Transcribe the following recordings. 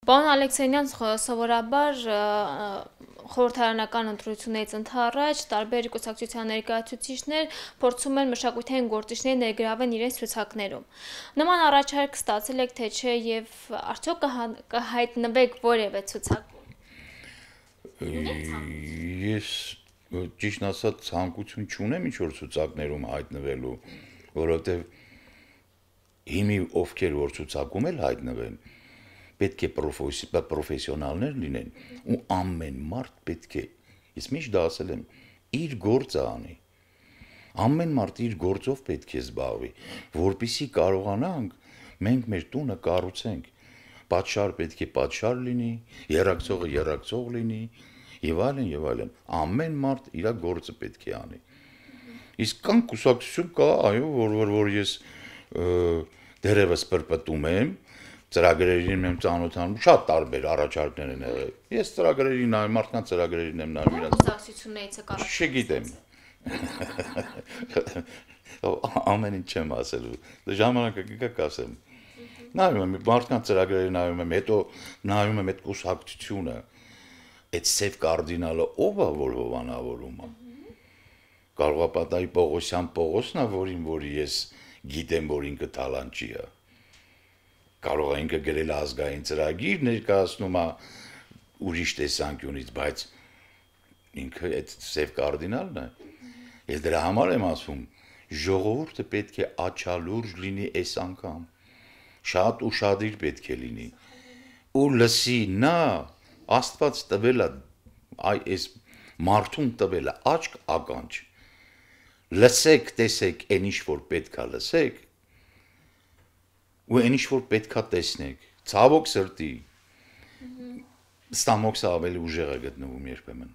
Պարոն Ալեքսեյնյան, սովորաբար խորհրդարանական ընտրություններից ընդառաջ տարբեր կուսակցության ներկայացուցիչներ փորձում են մշակութային գործիչներ ներգրավել իրենց ցուցակներում։ Նման առաջարկ ստացել եք թե չէ եւ արդյոք կհայտնվեք որևէ ցուցակում։ Ես ճիշտ ասած ցանկություն չունեմ ինչ-որ ցուցակներում հայտնվելու, որովհետեւ հիմի ովքեր որ ցուցակում էլ հայտնվեն, պետք է պրոֆեսիոնալներ լինեն ու ամեն մարդ պետք է, ես միշտ դա ասել եմ, իր գործը անի։ Ամեն մարդ իր գործով պետք է զբաղվի, որպեսզի կարողանանք մենք մեր տունը կառուցենք։ Պատշար պետք է պատշար լինի, երակցողը երակցող լինի, եւ այլն եւ այլն։ Ամեն մարդ իր գործը պետք է անի։ Իսկ կան կուսակցություն կա, այո, որ ես դերևս պրպտում եմ, ծրագրերին եմ ծանոթանում, շատ տարբեր առաջարկներ են եղել։ Ես ծրագրերին նայում, մարդկանց ծրագրերին եմ նայում, իրաց կուսակցություններից եք չգիտեմ։ Ամեն ինչ չեմ ասելու։ Ժամանակը կգա կասեմ։ Նայում եմ, մարդկանց ծրագրերին նայում եմ, հետո նայում եմ այդ կուսակցությունը, այդ սև կարդինալը ով է որ հովանավորում է։ Կարող է պատահի Պողոսյան Պողոսն է, որ ես գիտեմ, որ ինքը տալանչի է։ Կարող է ինքը գրել ազգային ծրագիր ներկայացնում է ուրիշ տեսանկյունից, բայց ինքը այդ սև կարդինալն է։ Ես դրա համար եմ ասում, ժողովուրդը պետք է աչալուրջ լինի այս անգամ։ Շատ ուշադիր պետք է լինի։ Ու լսի նա Աստված տվել է այս մարդուն տվել է աչք ականջ։ Լսեք, տեսեք, այն ինչ որ պետքա լսեք, ու այն ինչ որ պետքա տեսնեք, ցավոք սրտի, ստամոքսը ավելի ուժեղ է գտնվում երբեմն,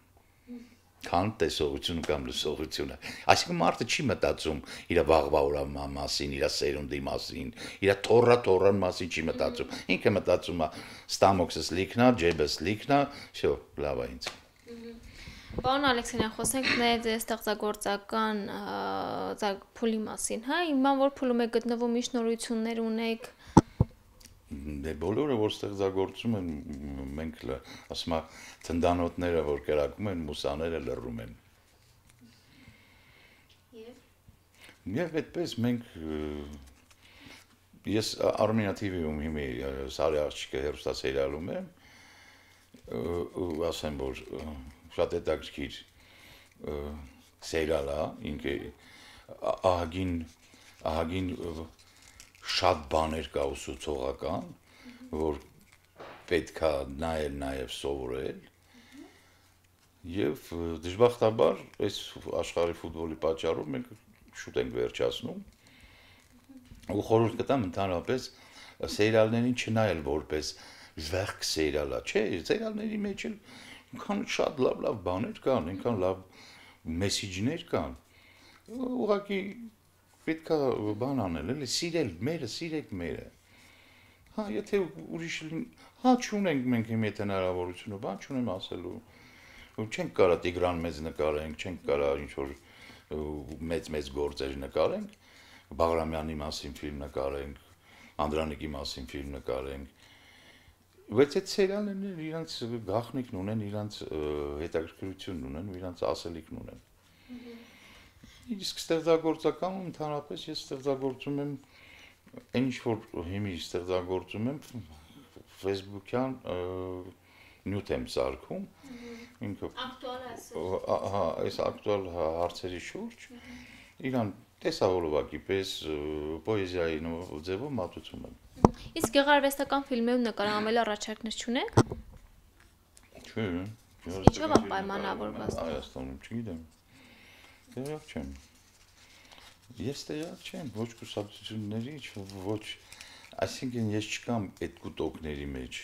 քան տեսողությունը կամ լսողությունը։ Այսինքն մարդը չի մտածում իր վաղվա օրվա մասին, իր սերունդի մասին, իր թոռան մասին չի մտածում։ Ինքը մտածում է ստամոքսս լիքնա, ջեբս լիքնա, всё, լավ է ինձ։ Պարոն Ալեքսեյնյան, խոսենք մեր ստեղծագործական փուլի մասին, հա, իմանալ որ փուլում եք գտնվում, ինչ նորություններ ունեք։ Դե բոլորը որ ստեղծագործում են, մենք ասում եմ, թնդանոթները որ կրակում են, մուսաները լռում են։ Եվ այդպես մենք ես Armenia TV-ում հիմի Սարի աղջիկը հեռուստասերիալում եմ, ու ասեմ որ շատ հետաքրքիր սերիալ է, ինքը ահագին շատ բաներ կա ուսուցողական, որ պետքա նայել նաև սովորել։ Եվ դժբախտաբար այս աշխարհի ֆուտբոլի պատճառով մենք շուտ ենք վերջացնում։ Ու խորհուրդ կտամ ընդհանրապես սերիալներին չնայել որպես զվերք սերիալա, չէ, սերիալների մեջ էլ այնքան շատ լավ բաներ կան, այնքան լավ մեսիջներ կան։ Ուղղակի պետքա բան անել, էլի սիրել մերը, սիրեք մերը։ Հա, եթե ուրիշ հա չունենք մենք հիմա այդ հնարավորությունը, բան չունեմ ասելու։ Չենք կարա Տիգրան մեզ նկարենք, չենք կարա ինչ որ մեծ գործեր նկարենք, Բաղրամյանի մասին ֆիլմ նկարենք, Անդրանիկի մասին ֆիլմ նկարենք։ Բայց այդ սերիալներն իրանց գաղտնիքն ունեն, իրանց հետաքրքրությունն ունեն, իրանց ասելիքն ունեն։ Իսկ ստեղծագործականում ընդհանրապես ես ստեղծագործում եմ այն ինչ որ հիմի ստեղծագործում եմ Facebook-յան նյութ եմ սարքում, ինքը ակտուալ է։ հա, այս ակտուալ հարցերի շուրջ իրան տեսավորովակի պես պոեզիայի ձևով մատուցում եմ։ Իսկ գեղարվեստական ֆիլմերում նկարահանվել առաջարկներ չունեք։ Չէ։ Ինչով է պայմանավորված։ Հայաստանում չգիտեմ։ Տեղյակ չեմ։ Ես տեղյակ չեմ, ոչ կուսակցությունների, ոչ, այսինքն ես չկամ այդ կուտոկների մեջ։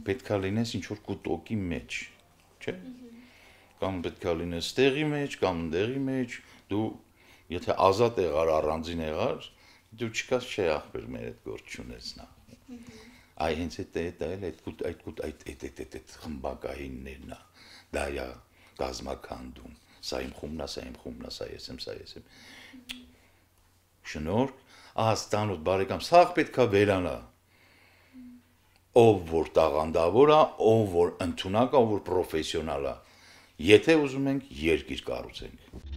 Պետքա լինես ինչ որ կուտոկի մեջ, չէ՞։ Կամ պետքա լինես տեղի մեջ, կամ ընդեղի մեջ, դու եթե ազատ եղար, առանձին եղար, դու չկաս չէ ախպեր մեր այդ գործ չունես նա։ Այ հենց այդ խմբակայիններն է, դա է գազམ་ականդում, սա իմ խումբն է, սա իմ խումբն է, սա ես եմ։ Շնորհք, ահա ստանոթ բարեկամ, սա պետքա վերանա։ ով որ տաղանդավոր է, ով որ ընդունակ է, ով որ պրոֆեսիոնալ է։ Եթե ուզում ենք երկիր կառուցենք։